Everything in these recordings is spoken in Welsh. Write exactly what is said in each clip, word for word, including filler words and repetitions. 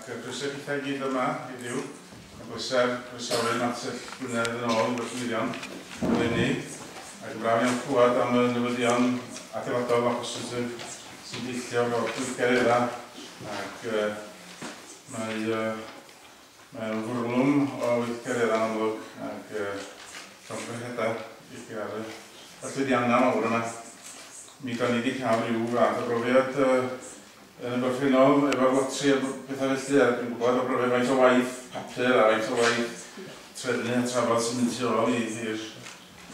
Ac croeso i chi gyd yma heddiw. Mae'n bleser croesawu Mantell Gwynedd yn ôl i Bortmeirion eleni. Ac yn braf iawn clywed am y newyddion adeiladol a positif sy'n deillio o'r gweithgareddau. Ac uh, mae, uh, mae'n fwrlwm o weithgareddau'n amlwg ac uh, llongyfarchiadau i chi ar y llwyddiannau mawr yma. Mi da ni wedi cael rhyw fath o brofiad uh, yn y gorffennol efo'r lotri a bethau felly, a dwi'n gwybod o brofiad faint o waith papur a faint o waith trefnu a trafod sy'n mynd tu ôl i'r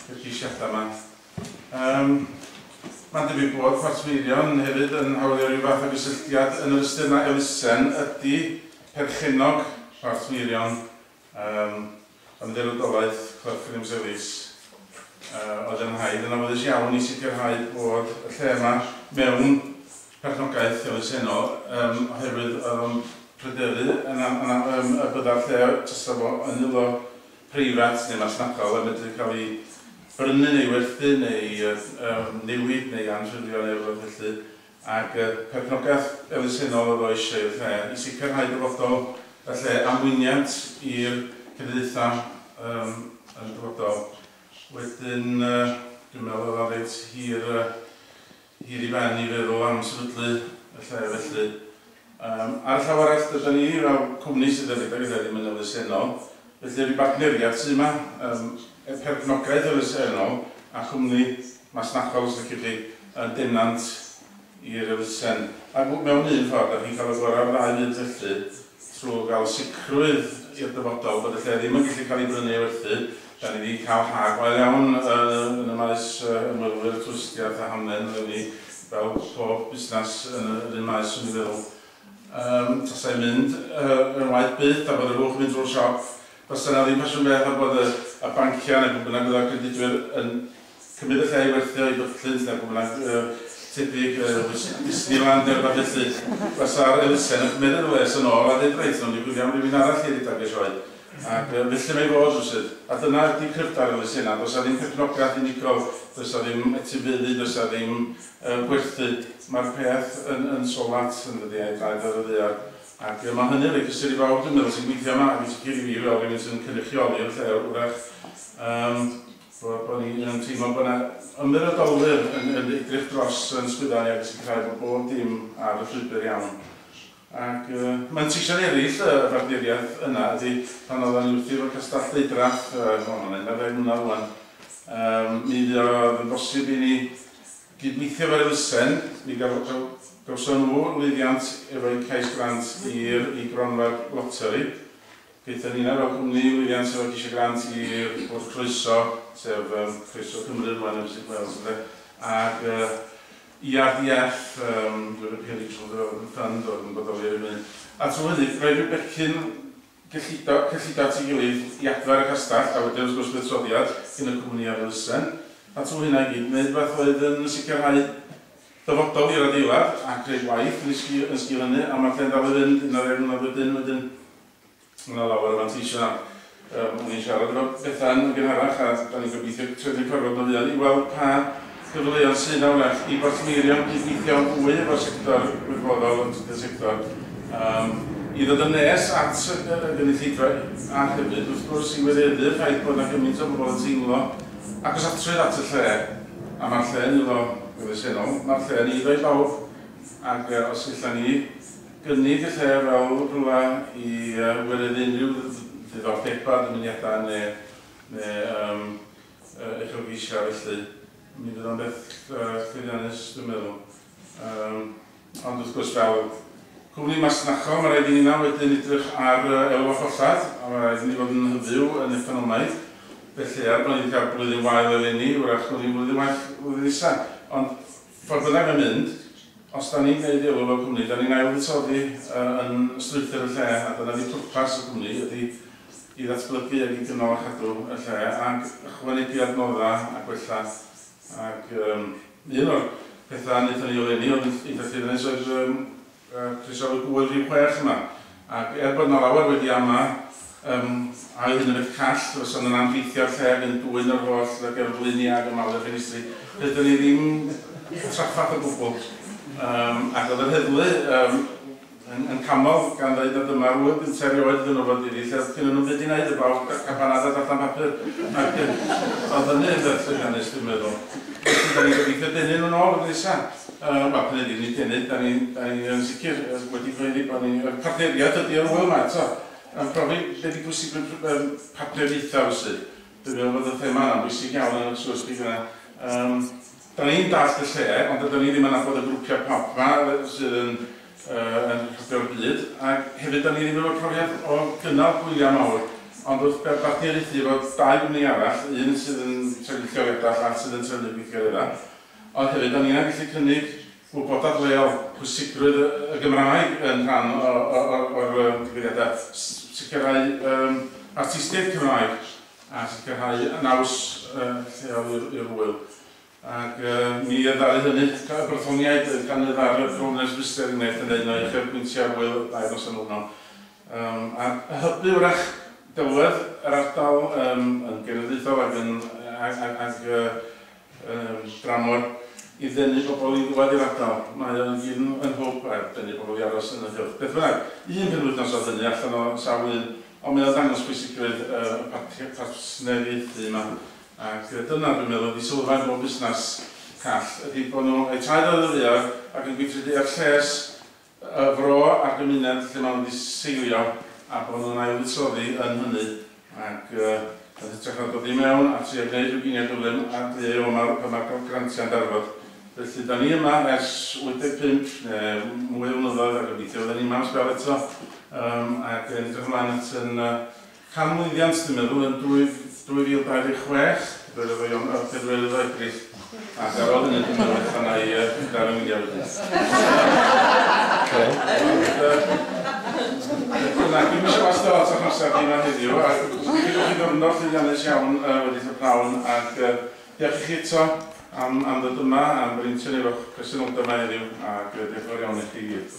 ceisiadau yma. Um, Mae'n debyg bod Portmeirion hefyd yn hawlio rhyw fath o gysylltiad yn yr ystyr na elusen ydy perchennog Portmeirion, um, Ymddiriedolaeth Clough Williams-Ellis. Uh, oedd yn rhaid yn awyddus iawn i sicrhau bod y lle yma mewn perchnogaeth elusennol, um, oherwydd oedd o'n pryderu yn, yn, yn, y bydda'r lle tasa fo yn eiddo preifat neu masnachol yn medru cael ei brynu neu werthu neu um, newid neu anffurfio neu rhywbeth felly. Ac uh, perchnogaeth elusennol oedd o eisiau i'r lle i sicrhau dyfodol y lle amwyniant i'r cenedlaethau um, yn y dyfodol. Wedyn, uh, dwi'n meddwl oedd o'n reit hir, uh, hir i ben i feddwl am sefydlu y lle felly. Um, ar y llaw arall, dydyn ni fel cwmni sydd yn rhedeg y lle ddim yn elusennol, felly rhyw bartneriaeth sydd yma, um, perchnogaeth elusennol a chwmni masnachol, os ydych chi, yn denant i'r elusen. Ac mewn un ffordd, da chi'n cael y gorau o'r ddau fyd felly, trwy gael sicrwydd i'r dyfodol bod y lle ddim yn gallu cael ei brynu ei werthu. Da ni wedi cael ha gwael iawn uh, yn y maes uh, ymwelwyr, twristiaeth a hamdden, ni fel pob busnes yn yr un maes, swn i'n feddwl. Um, tasai'n mynd uh, yn waith byth a bod yr hwch yn mynd drwy'r siop. Fysa yna ddim ffasiwn beth a bod y, y banciau neu pwy bynnag oedd credydwyr yn cymryd y lle i werthio i Butlins neu pwy bynnag uh, tebyg uh, Disneyland neu rhywbeth felly. Fysa'r elusen yn cymryd yr les yn ôl a dweud reit, nhw'n gwylio am rhywun arall i redeg y sioe. Ac felly mae fod rywsut. A dyna ydy cryfder elusennau. Does 'na ddim perchnogaeth unigol, does 'na ddim etifeddu, does 'na ddim uh, gwerthu. Mae'r peth yn, yn solat yn dydi, a'i draed ar y ddaear. Ac uh, mae hynny'n rhoi cysur i bawb, dwi'n meddwl, sy'n gweithio yma, ac yn sicr i fi fel rhywun sy'n cynrychioli'r lle wrach. Um, bod, bod ni'n teimlo bod yna ymddiriedolwyr yn, yn edrych dros yn sgwydda ni ac yn sicrhau bod bob dim ar y llwybr iawn. Ac uh, manteision eraill y bartneriaeth yna ydy pan oedden ni wrthi efo Castell Deudraeth, uh, mae'n un ar ddeg mlynedd rwan, um, mi oedd yn bosib i ni gydweithio efo'r elusen, mi gawson nhw lwyddiant efo'u cais grant i'r i gronfa'r loteri. Gaethon ni yna fel cwmni lwyddiant efo ceisio grant i'r Bwrdd Croeso, sef um, Croeso Cymru rwan yn Visit Wales, ac uh, E R D F, um, European Regional Development Fund, oedd yn bodoli ar y funud. A trwy hynny, rhoi rhyw becyn cyllido, cyllido at ei gilydd i adfer y castell, a wedyn wrth gwrs buddsoddiad gyn y cwmni a'r elusen. A trwy hynna i gyd, wneud rhywbeth oedd yn sicrhau dyfodol i'r adeilad a creu gwaith yn sgil, yn sgil hynny, a mae'r lle'n dal i fynd un ar ddeg mlynedd wedyn, wedyn yna lawer o fanteision. Um, o'n i'n siarad efo Bethan yn gynharach, a da ni'n gobeithio trefnu cyfarfod yn fuan i weld pa cyfleoedd sydd yna wrach i Bortmeirion gydweithio fwy efo'r sector gwirfoddol, y trydydd sector, um, i ddod yn nes at y gynulleidfa a hefyd wrth gwrs i wireddu'r ffaith bod yna gymaint o bobl yn teimlo agosatrwydd at y lle, a mae'r lle yn eiddo elusennol, mae'r lle yn eiddo i bawb, ac uh, os ella ni gynnig y lle fel rhywle i uh, wireddu unrhyw ddiddordebau, dymuniadau neu, neu um, uh, uchelgeisiau felly, mi fydd o'n beth uh, llwyddiannus, dwi'n meddwl. Um, ond wrth gwrs fel cwmni masnachol, mae rhaid i ni na wedyn edrych ar uh, elw a chollad, a mae rhaid i ni fod yn hyfyw yn economaidd. Felly, er bod ni wedi cael blwyddyn wael eleni, wrach gwni blwyddyn wael blwyddyn nesaf. Ond ffordd bynnag yn mynd, os da ni'n gwneud elw fel cwmni, da ni'n ail-fuddsoddi uh, yn strwythur y lle, a dyna di pwrpas y cwmni, ydy i ddatblygu ac i gynnal a chadw y lle, ac ychwanegu adnoddau a gwella. Ac um, un o'r pethau wnaethon ni eleni oedd yn eitha llwyddiannus oedd um, uh, croesawu gŵyl rhif chwech yma. Ac er bod yna lawer wedi ama, um, a oedd hyn yn beth call, fysa nhw'n anrheithio'r lle ac yn dwyn yr holl gerfluniau ac ymladd y ffenestri, rydyn ni ddim traffath o gwbl. Um, ac oedd yr heddlu, um, yn, yn camol gan ddweud nad dyma'r ŵyl gyntaf erioed iddyn nhw fod iddi, lle oedd gynnon nhw'm byd i wneud heblaw cabanad a darllen papur. Ac oedd hynny yn beth llwyddiannus, dwi'n meddwl. Felly, da ni'n gobeithio denu nhw'n ôl y nesaf. Uh, Wel, hynny ydi, nid denu, da ni'n da ni yn sicr wedi cyhoeddi bod ni'n partneriaid ydy o'r ŵyl yma eto. Yn profi be di pwysigrwydd um, partneriaethau felly. Dwi'n meddwl bod y thema yna'n bwysig iawn yn y sgwrs chi fyna. Um, da ni'n dallt y lle, ond dydyn ni ddim yn nabod y grwpiau pop yma sydd yn, uh, yn rhedeg byd. Ac hefyd, da ni ddim efo profiad o gynnal gwyliau mawr. Ond wrth bartneriaethu efo dau gwmni arall, un sydd yn trefnu lleoliadau, llall sydd yn trefnu gweithgareddau. Ond hefyd, da ni'n gallu cynnig gwybodaeth leol, pwysigrwydd y Gymraeg yn rhan o'r digwyddiadau, sicrhau um, artistiaid Cymraeg a sicrhau naws uh, lleol i'r ŵyl. Ac uh, mi ddaru hynny, y Brythoniaid gan y ddaru Broners Brister enghraifft yn un o uchelbwyntiau'r ŵyl dau nos yn hwnnw. Um, a hybu wrach delwedd yr ardal um, yn genedlaethol ac yn ag, ag, ag, um, dramor i ddenu bobl i ddwad i'r ardal. Mae o'n gyd yn hwb a denu bobl i aros yn y cylch. Beth bynnag, un penwythnos oedd hynny allan o sawl un, ond mae o'n dangos pwysigrwydd y partneriaethu yma. Ac dyna dwi'n meddwl ydy sylfaen bob busnes call, ydy bod nhw eu traed ar y ddaear ac yn gweithredu ar lles y fro a'r gymuned lle maen nhw wedi seilio a bod nhw'n ailfuddsoddi yn hynny. Ac uh, yn hytrach na dod i mewn a trio gwneud rhyw giniau gyflym a dweud o mae'r pan mae'r grantiau'n darfod. Felly, da ni yma ers wyth deg pump neu mwy o flynyddoedd a gobeithio fydden ni yma am sbel eto. Um, ac yn edrych ymlaen at yn uh, canmlwyddiant, dwi'n meddwl, yn dwy fil dau ddeg chwech, pedwerydd o Ebrill. Ac ar ôl hynny, dwi'n meddwl, allan i uh, dar yng Nghymru wedyn. Dyna, dwi'm eisiau wastio lot o'ch amser chi yma heddiw, a dwi'n gwybod chi ddiwrnod llwyddiannus iawn uh, wedi y pnawn, ac uh, diolch i chi eto am, am ddod yma, am brintio ni efo'ch presenoldeb yma heddiw, ac uh, diolch yn fawr iawn i chi gyd.